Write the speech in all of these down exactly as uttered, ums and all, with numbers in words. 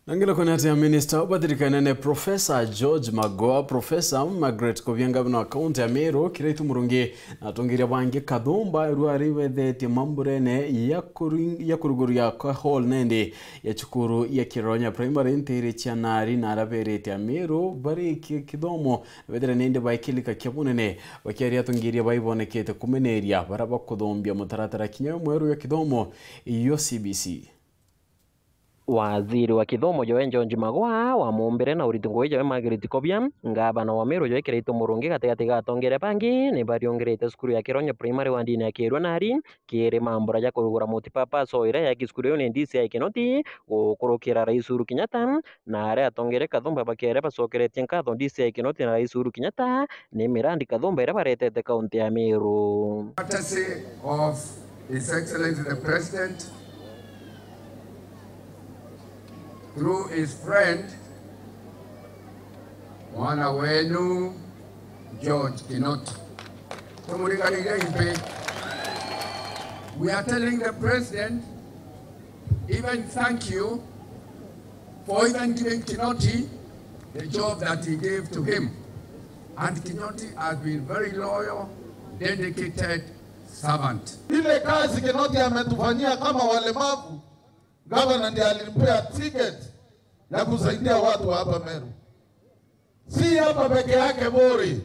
Na nginya kwona ati minista ubathirikana ni Professor George Magoha, Professor Margaret Kobia, ngavana wa kaunti ya Meru, Kiraitu Murungi, na atongeria bangi kathumba, rua riwethetie mamburene ya kuring-, ya kuruguria kwa hall nende ya cukuru ya Kironya Primary ntiri cia nari, na araberete Ameru bari ki-, kithomo, bethire nende baikilika kia bunene, bakiaria atongeria baibonekete kumeneria bara bakuthombia mutaratara kinya mweru ya kithomo iyo C B C. Waziri wa kithomo joe George Magoha wamumbire na uritu ngugi joe Margaret Kobia, ngavana wa Meru joe Kiraitu Murungi gatigati ga atongeria bangi ni bariungirite cukuru ya Kironya Primary wandini ya Kirua Nari, kiri mambura ja kurugura multipurpose hall iria yaki cukuru iu ni D C I Kinoti gukurukira Rais Uhuru Kenyatta, na aria atongeria kathumba bakiere bacokeretie nkatho D C I Kinoti na Rais Uhuru Kenyatta ni mirandi kathumba iria baretete kaunti ya Meru. Courtesy of His Excellency the President, through his friend, mwana wenu, George Kinoti. Tumuringanire imbi. We are telling the president, even thank you for even giving Kinoti the job that he gave to him. And Kinoti has been very loyal, dedicated servant. Ile kazi Kinoti ametufanyia kama walemavu, gavana ndiye alimpea ticket ya kusaidia watu wa hapa Meru. Si hapa peke yake Buri.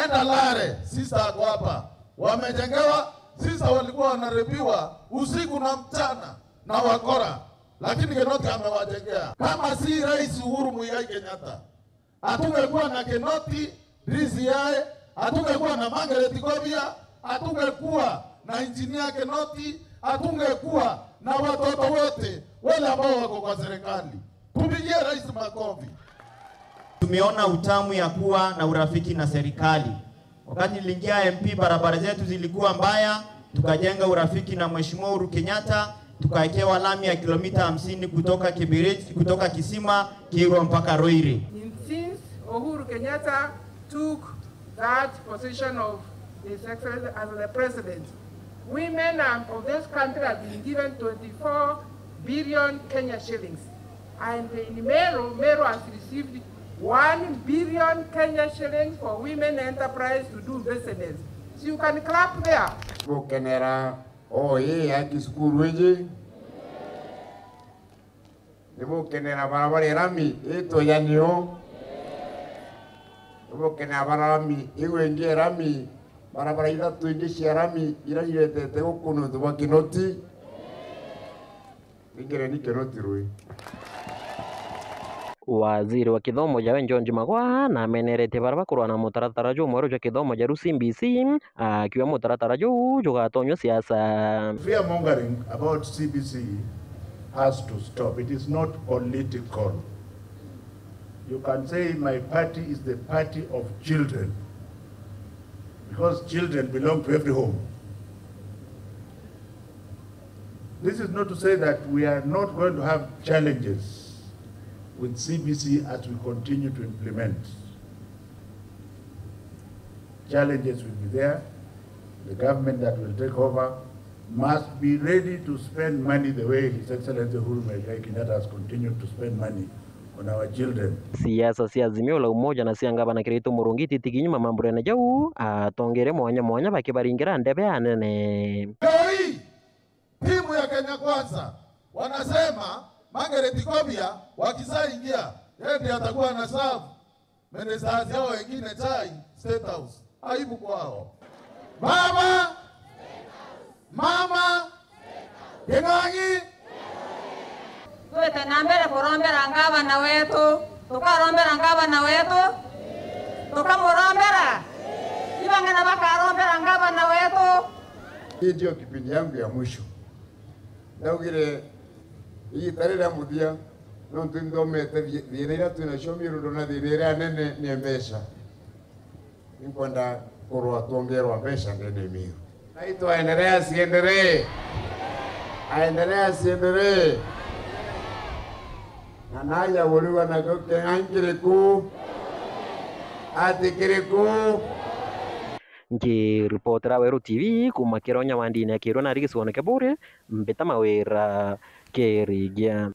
Enda Lare, sister ako hapa. Wamejengewa, sister walikuwa wanarepiwa usiku na mchana na wakora. Lakini Kinoti amewajengea. Kama si Rais Uhuru Muigai Kenyatta, hatungekuwa na Kinoti, D C I, hatungekuwa na Margaret Kobia, hatungekuwa na Engineer Kinoti, hatungekuwa na watoto wote wale ambao wako kwa serikali. Tupigie rais makofi. Tumeona utamu ya kuwa na urafiki na serikali. Wakati niliingia M P, barabara zetu zilikuwa mbaya, tukajenga urafiki na Mheshimiwa Uhuru Kenyatta, tukawekewa lami ya kilomita hamsini kutoka Kibiriti, kutoka Kisima, Kirwa mpaka Ruiri. In since Uhuru Kenyatta took that position of His Excellency as the President, women of this country have been given twenty-four billion Kenya shillings. And in Meru, Meru has received one billion Kenya shillings for women enterprise to do business. So you can clap there. Gukenera o ii ya cukuru iji. Nibukenera barabara ya rami itwe ya nio. Nibukenera barami iu ingi ya rami, barabara ithatu ingi cia rami iria iretete guku nontu bwa Kinoti. Ingereni Kinoti rui. Waziri wa kithomo jawe George Magoha nameneretie bara bakurwa na mutaratara jumweru jwa kithomo ja riu C B C, akiuga mutaratara juu jugatonywa siasa. Fear mongering about C B C has to stop. It is not political. You can say my party is the party of children, because children belong to every home. This is not to say that we are not going to have challenges with C B C as we continue to implement. Challenges will be there. The government that will take over must be ready to spend money the way His Excellency Uhuru Muigai Kenyatta has continued to spend money on our children. Siasa cia Azimio la Umoja na cia ngavana Kiraitu Murungi ititigi nyuma mamburene jau, atongeria mwanya mwanya bakibaringira ndebe anene. Leo hii, timu ya Kenya Kwanza wanasema Margaret Kobia wakizaingia, yeye ndiye atakuwa ana serve ministers yao wengine chai State House. Aibu kwao. Baba! Mama! King'ang'i! Twite na mbere kurombera ngavana wetu, tukarombera ngavana wetu, tukamurombera. Ibang'ana bakarombera ngavana wetu. Hii ndio kipindi yangu ya mwisho. Ndaugire igita riria muthia, nontu nthomete thi-, thina iria twinacio Miru, ndona thina iria nene ni mbeca. Ninkwenda kurwa twongerwa mbeca ndene Miru. Naitwa endelea siendelee. Aendelea siendelee. Na naja kuriwa nakio king'ang'i kiriku? Ati kiriku? Nkiripotera Weru T V kuuma Kironya wandini ya Kirua nari gicigoone kia Buri, Mbita Mawira Kirigia.